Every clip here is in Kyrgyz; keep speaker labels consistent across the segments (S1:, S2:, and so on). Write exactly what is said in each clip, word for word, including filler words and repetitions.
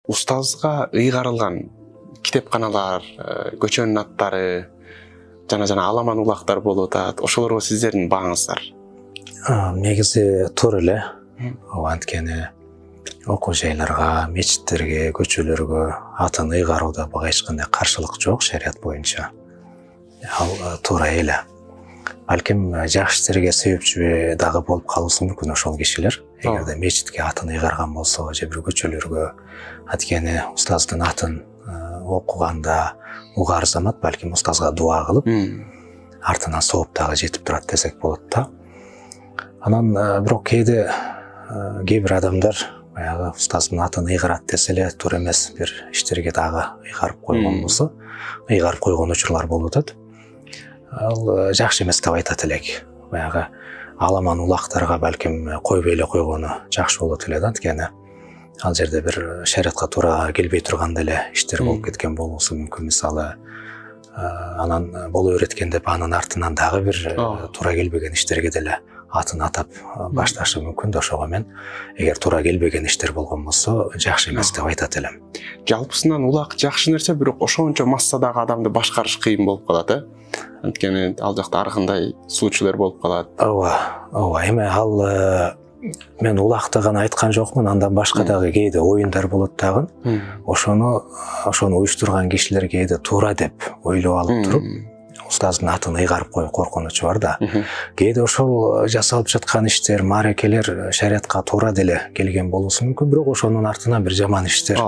S1: устазга ыйгарылган китепканалар, көчөнүн аттары жана жана аламан улактар болуп атат. Ошолорго сиздердин бааңыздар?
S2: Негизи туура эле. Анткени окуу жайларга, мечиттерге, көчөлөргө атын ыйгарууда буга эч кандай каршылык жок шарият боюнча. Ал туура эле. Балким жакшы иштерге себепчи дагы болуп калышы мүмкүн ошол кишилер. Эгерде мечитке атын ыйгарган болсо, же бир көчөлөргө, анткени устаздын атын окуганда угар замат балким устазга дуа кылып, артынан сооп дагы жетип турат десек болот да. Анан бирок кээде кээ бир адамдар баягы устаздын атын ыйгарат десе эле туура эмес бир иштерге дагы ыйгарып койгон болсо, ыйгарып койгон учурлар болуп атат. Ал жакшы эмес деп айтат элек. Баягы аламан улактарга балким койбой эле койгону жакшы болот эле да, анткени ал жерде бир шариатка туура келбей турган эле иштер болуп кеткен болуусу мүмкүн. Мисалы, анан боло береткен деп анын артынан дагы бир туура келбеген иштерге деле атын атап башташы мүмкүн да. Ошого мен эгер туура келбеген иштер болгон болсо жакшы эмес деп айтат элем.
S1: Жалпысынан улак жакшы нерсе, бирок ошончо массадагы адамды башкарыш кыйын болуп калат, э? Анткени ал жакта ар кандай суучулар болуп калат.
S2: Ооба, ооба. Эми ал мен улакты гана айткан жокмун, андан башка дагы кээде оюндар болот дагы. Ошону ошону уюштурган кишилер кээде туура деп ойлоп алып туруп, устаздын атын ыйгарып коюу коркунучу бар да. Кээде ошол жасалып жаткан иштер, маарекелер шариатка туура деле келген болуусу мүмкүн, бирок ошонун артынан бир жаман иштер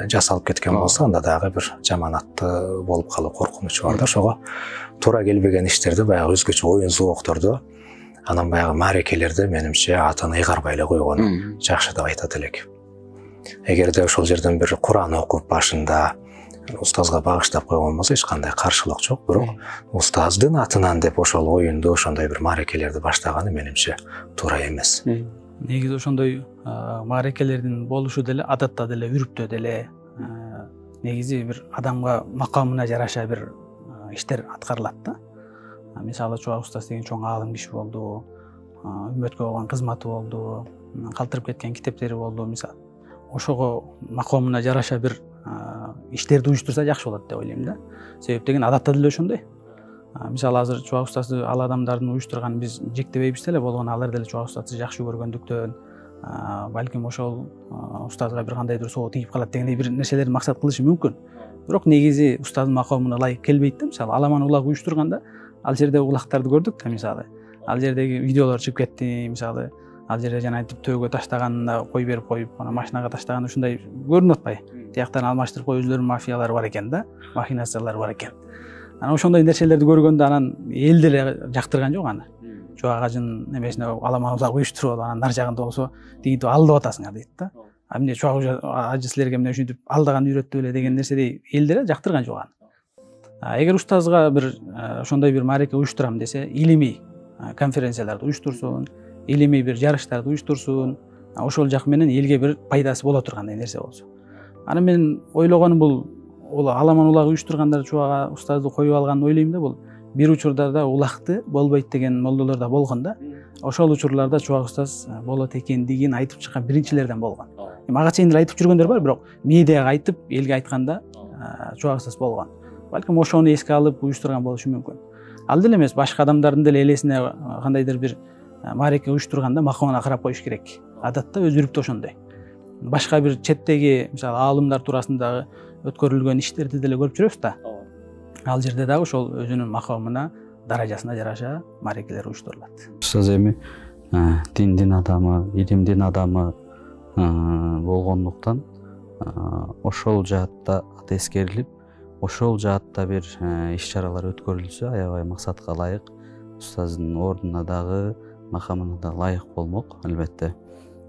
S2: жасалып кеткен болсо, анда дагы бир жаман аттуу болуп калуу коркунучу бар да. Ошого туура келбеген иштерди баягы өзгөчө оюн зоокторду, анан баягы маарекелерди менимче атын ыйгарбай эле койгону жакшы деп айтат элек. Эгерде ошол жерден бир Куран окуп башында устазга багыштап койгон болсо эч кандай каршылык жок, бирок устаздын атынан деп ошол оюнду, ошондой бир маарекелерди баштаганы менимче туура эмес.
S3: Негизи ошондой маарекелердин болушу деле адатта деле, үрүптө деле негизи бир адамга макамына жараша бир иштер аткарылат да. Мисалы, Чубак устаз деген чоң аалым киши болду, үммөткө болгон кызматы болду, калтырып кеткен китептери болду. Мисалы, ошого макамына жараша бир иштерди уюштурса жакшы болот деп ойлойм да. Себеп деген адатта деле ошондой. Мисалы, азыр Чубак устазды ал адамдардын уюштурган биз жектебейбиз деле, болгону алар деле Чубак устазды жакшы көргөндүктөн, балким ошол устазга бир кандайдыр соо тийип калат дегендей бир нерселерди максат кылышы мүмкүн. Бирок негизи устаздын макамына ылайык келбейт да. Мисалы, аламан улак уюштурганда ал жерде улактарды көрдүк да. Мисалы, ал жердеги видеолор чыгып кетти. Мисалы, ал жерде жана айтып төөгө таштаганына кой берип коюп, ана машинага таштаган ушундай көрүнүп атпайбы? Тияктан алмаштырып коюу өзүлөрүнүн мафиялары бар экен да, махинациялар бар экен. Анан ошондой нерселерди көргөндө анан эл деле жактырган жок аны. Чубак ажынын эмесине аламан улак уюштуруп, анан нар жагында болсо тигинтип алдап атасыңар дейт да. А эмне Чубак ажы силерге эмне ушинтип алдаган үйрөттү эле деген нерседей эл деле жактырган жок аны. Эгер устазга бир ошондой бир маареке уюштурам десе, илимий конференцияларды уюштурсун, илимий бир жарыштарды уюштурсун, ошол жак менен элге бир пайдасы боло тургандай нерсе болсо. Аны мен ойлогонум бул ол аламан улак уюштургандар Чубак устазды коюп алганын ойлойм да. Бул бир учурда улакты болбойт деген молдолор да болгон да. Ошол учурларда Чубак устаз болот экендигин айтып чыккан биринчилерден болгон. Мага чейин эле айтып жүргөндөр бар, бирок медиага айтып, элге айтканда Чубак устаз болгон. Балким ошону эске алып уюштурган болушу мүмкүн. Ал деле эмес, башка адамдардын деле элесине кандайдыр бир маареке уюштурганда макамына карап коюш керек. Адатта өз үрүптө ошондой. Башка бир четтеги, мисалы, аалымдар туурасындагы өткөрүлгөн иштерди деле көрүп жүрөбүз да. Ал жерде дагы ошол өзүнүн макамына, даражасына жараша маарекелер уюштурулат.
S4: Устаз эми диндин адамы, илимдин адамы болгондуктан ошол жаатта аты эскерилип, ошол жаатта бир иш-чаралар өткөрүлсө аябай максатка ылайык, устаздын ордуна дагы, макамына да ылайык болмок, албетте.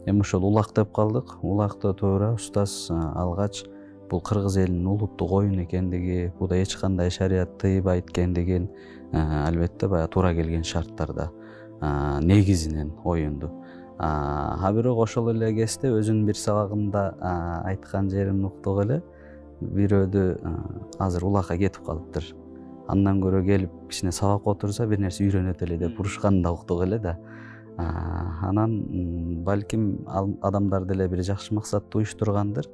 S4: Эми ошол улак деп калдык. Улакты туура устаз алгач бул кыргыз элинин улуттук оюн экендиги, буда эч кандай шарият тыйбайт экендигин албетте баягы туура келген шарттарда негизинен оюнду. А бирок ошол эле кезде өзүнүн бир сабагында айткан жерин уктук эле. Бирөөдү азыр улакка кетип калыптыр. Андан көрө келип кичине сабак отурса бир нерсе үйрөнөт эле деп урушканын да уктук эле да. Анан балким адамдар деле бир жакшы максатты уюштургандыр.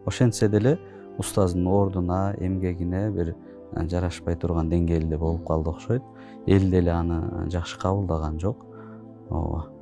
S4: ошентсе деле устаздын ордуна, эмгегине бир жарашпай турган деңгээлде болуп калды окшойт. Эл деле аны жакшы кабылдаган жок. Ооба.